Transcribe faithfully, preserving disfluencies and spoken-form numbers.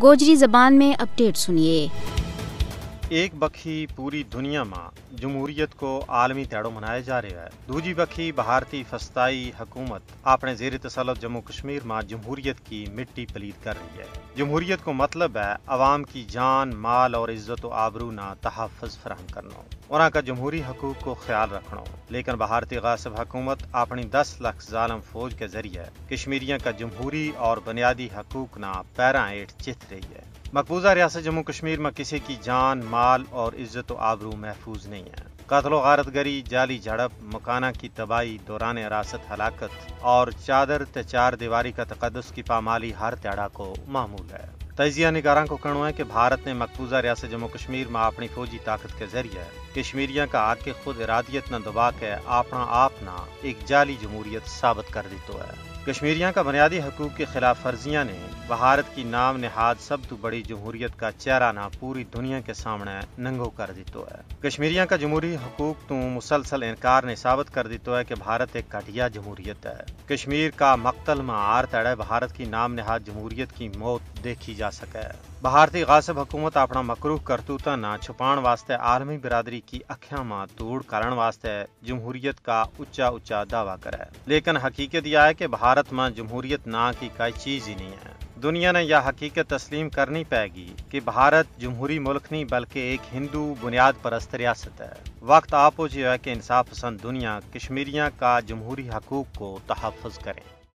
گوجری زبان میں اپڈیٹ سنیے۔ ایک بکھی پوری دنیا ما جمہوریت کو عالمی تیڑو منایا جا رہیو ہے۔ دوجی بکھی بھارتی فستائی حکومت اپنے زیر تسلط جموں کشمیر ما جمہوریت کی مٹی پلید کر رہی ہے۔ جمہوریت کو مطلب ہے عوام کی جان، مال اور عزت و آبرو نا تحفظ فراہم کرنو، انہاں کا جمہوری حقوق کو خیال رکھنو۔ لیکن بھارتی غاصب حکومت اپنی دس لکھ ظالم فوج کے ذریعے کشمیریاں کا جمہوری اور بنیادی حقوق نا پیراں ہیٹھ چتھ رہی ہے۔ مقبوضہ ریاست جموں کشمیر ما کسی کی جان، مال اور عزت و آبرو محفوظ نہیں ہے۔ قتل و غارت گری، جعلی جھڑپ، مکاناں کی تباہی، دوران حراست ہلاکت اور چادر تے چار دیواری کا تقدس کی پامالی ہر تیڑا کو معمول ہے۔ تجزیہ نگاراں کو کہنو ہے کہ بھارت نے مقبوضہ ریاست جموں کشمیر ما اپنی فوجی طاقت کے ذریعے کشمیریاں کا حق خود ارادیت نا دبا کے اپنا آپ نا ایک جعلی جمہوریت ثابت کر دیتو ہے۔ کشمیریاں کا بنیادی حقوق کی خلاف ورزیاں نے بھارت کی نام نہاد سب تو بڑی جمہوریت کا چہرہ نا پوری دنیا کے سامنے ننگو کر دیتو ہے۔ کشمیریاں کا جمہوری حقوق تو مسلسل انکار نے ثابت کر دیتو ہے کہ بھارت ایک گھٹیا جمہوریت ہے۔ کشمیر کا مقتل ما ہر تیڑے بھارت کی نام نہاد جمہوریت کی موت دیکھی جا سکے۔ بھارتی غاصب حکومت اپنا مکروہ کرتوتاں نا چھپان واسطے عالمی برادری کی اکھیاں ما دھوڑ کرن واسطے جمہوریت کا اچا اچا دعویٰ کرے، لیکن حقیقت یا ہے کہ بھارت ما جمہوریت نا کی کائی چیز ہی نہیں ہے۔ دنیا نے یا حقیقت تسلیم کرنی پائے گی کہ بھارت جمہوری ملک نہیں بلکہ ایک ہندو بنیاد پرست ریاست ہے۔ وقت آپو جیو ہے کہ انصاف پسند دنیا کشمیریاں کا جمہوری حقوق کو تحفظ کریں۔